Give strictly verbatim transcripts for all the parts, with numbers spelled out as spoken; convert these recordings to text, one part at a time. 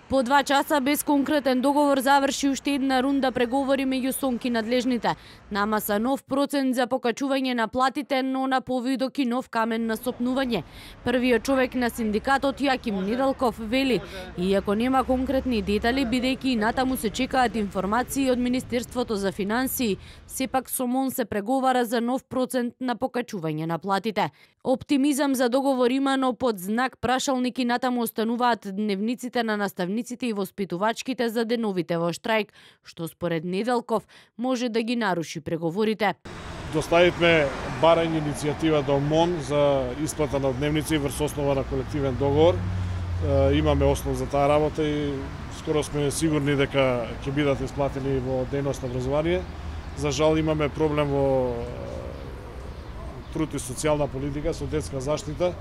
По два часа без конкретен договор заврши уште една рунда преговори меѓу СОНК и надлежните. Нама са нов процент за покачување на платите, но на повидок и нов камен на сопнување. Првиот човек на синдикатот Јаким Недалков вели, иако нема конкретни детали, бидејќи и натаму се чекаат информации од Министерството за финансии, сепак со МОН се преговара за нов процент на покачување на платите. Оптимизам за договор има, но под знак прашалник и натаму остануваат дневниците на наставниците и воспитувачките за деновите во штрајк, што според Недалков може да ги наруши преговорите. Доставивме барање иницијатива до МОН за исплата на дневници врз основа на колективен договор. Имаме основ за таа работа и скоро сме сигурни дека ќе бидат исплатени во дејност на образование. За жал имаме проблем во труд и социјална политика со детска заштита.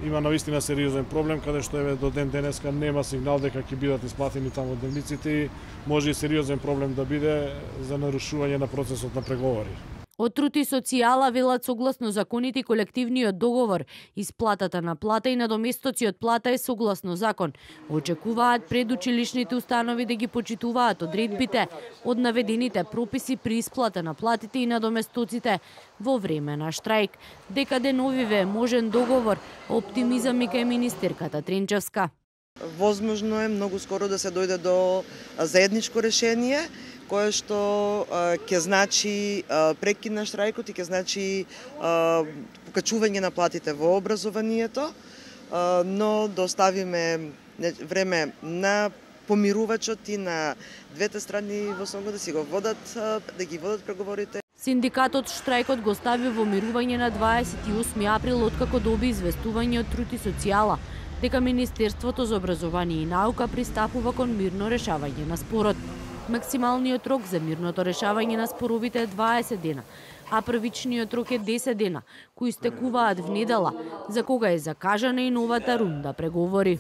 Има навистина сериозен проблем каде што еве до ден денеска нема сигнал дека ќе бидат исплатени таму дневниците и може и сериозен проблем да биде за нарушување на процесот на преговори. Од Труд и социјала велат согласно законите и колективниот договор, исплатата на плата и надоместоци од плата е согласно закон. Очекуваат предучилишните установи да ги почитуваат одредбите од наведените прописи при исплата на платите и надоместоците во време на штрајк. Дека деновиве е можен договор, оптимизам и кај министерката Тренчевска. Возможно е многу скоро да се дојде до заедничко решение, кое што ќе значи прекин на штрајкот и ќе значи покачување на платите во образованието, но да оставиме време на помирувачот и на двете страни во СОНК да си го водат, да ги водат преговорите. Синдикатот штрајкот го стави во мирување на дваесет и осми април откако доби известување од Труд и социјала дека Министерството за образование и наука пристапува кон мирно решавање на спорот. Максималниот рок за мирното решавање на споровите е дваесет дена, а првичниот рок е десет дена, кои стекуваат внедела, за кога е закажана и новата рунда преговори.